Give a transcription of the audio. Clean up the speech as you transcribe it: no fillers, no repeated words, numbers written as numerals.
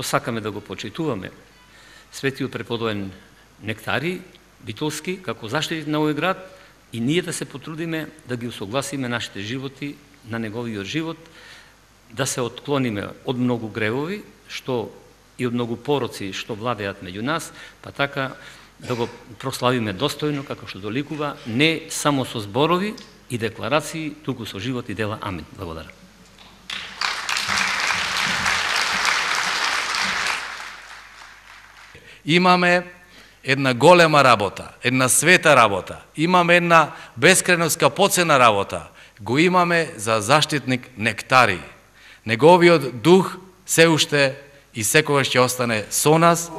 сакаме да го почитуваме светиот преподобен Нектари Битолски како заштитник на овој град и ние да се потрудиме да ги усогласиме нашите животи на неговиот живот, да се отклониме од многу гревови, што и од многу пороци што владеат меѓу нас, па така да го прославиме достојно како што доликува, не само со зборови и декларации, туку со живот и дела. Амин. Благодарам. Имаме една голема работа, една света работа, имаме една бескрајно скапоцена работа, го имаме за заштитник Нектари. Неговиот дух се уште и секогаш ќе остане со нас.